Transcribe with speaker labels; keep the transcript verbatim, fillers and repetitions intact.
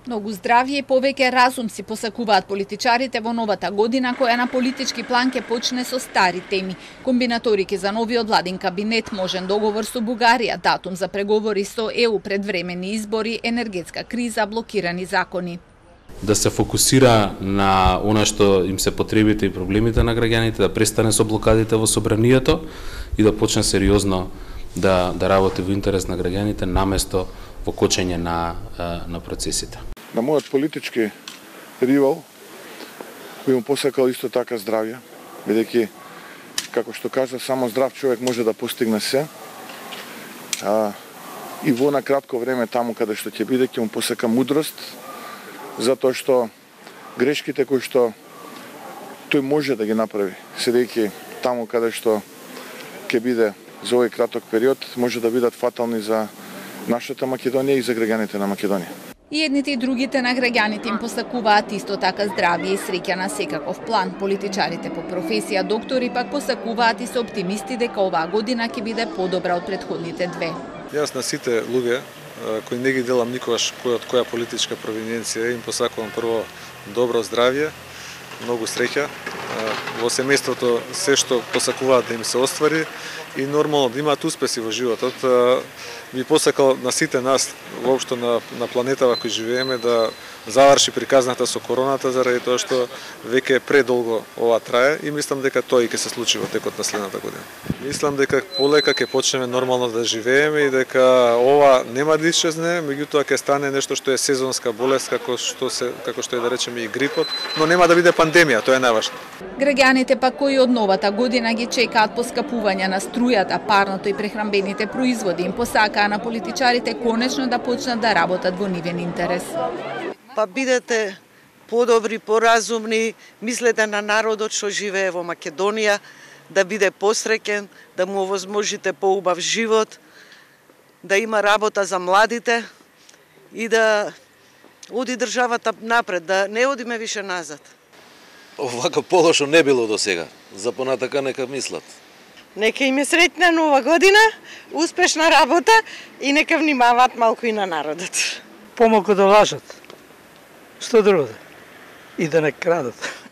Speaker 1: Многу здравје и повеќе разум си посакуваат политичарите во новата година, која на политички план ќе почне со стари теми. Комбинаторики за новиот владин кабинет, можен договор со Бугарија, датум за преговори со Е У, предвремени избори, енергетска криза, блокирани закони.
Speaker 2: Да се фокусира на она што им се потребите и проблемите на граѓаните, да престане со блокадите во собранието и да почне сериозно да да работи во интерес на граѓаните наместо во кочење на на процесите.
Speaker 3: На мојот политички ривал би му посакал исто така здравје, бидејќи, како што кажа, само здрав човек може да постигне се. А, и во на кратко време таму каде што ќе биде, ќе му посака мудрост, затоа што грешките кои што тој може да ги направи, седејќи таму каде што ќе биде за овој краток период, може да бидат фатални за нашата Македонија и за граѓаните на Македонија.
Speaker 1: И едните и другите на граѓаните им посакуваат исто така здравје и среќа на секаков план. Политичарите по професија доктори пак посакуваат и се оптимисти дека оваа година ќе биде подобра од претходните две.
Speaker 4: Јас на сите луѓе кои не ги делам никогаш кој од која политичка провиненција, им посакувам прво добро здравје, многу среќа во семејството, се што посакуваат да им се оствари и нормално да имаат успеси во животот. Би посакал на сите нас, воопшто на, на планетава кој живееме, да заврши приказната со короната, заради тоа што веќе предолго ова трае и мислам дека тоа и ќе се случи во текот на следната година. Мислам дека полека ќе почнеме нормално да живееме и дека ова нема да исчезне, меѓутоа ќе стане нешто што е сезонска болест, како што се како што е да речеме и грипот, но нема да биде пандемија, тоа е најважно.
Speaker 1: Граѓаните пак кои од новата година ги чекаат поскапување на струјата, парното и прехранбените производи, им посакаа на политичарите конечно да почнат да работат во нивен интерес.
Speaker 5: Па бидете подобри, поразумни, мислете на народот што живее во Македонија, да биде посреќен, да му овозможите поубав живот, да има работа за младите и да оди државата напред, да не одиме више назад.
Speaker 6: Овака полошо не било до сега. За понатака нека мислат.
Speaker 5: Нека им е среќна нова година, успешна работа и нека внимаваат малку и на народот.
Speaker 7: Помалку да лажат. Што друго? И да не крадат.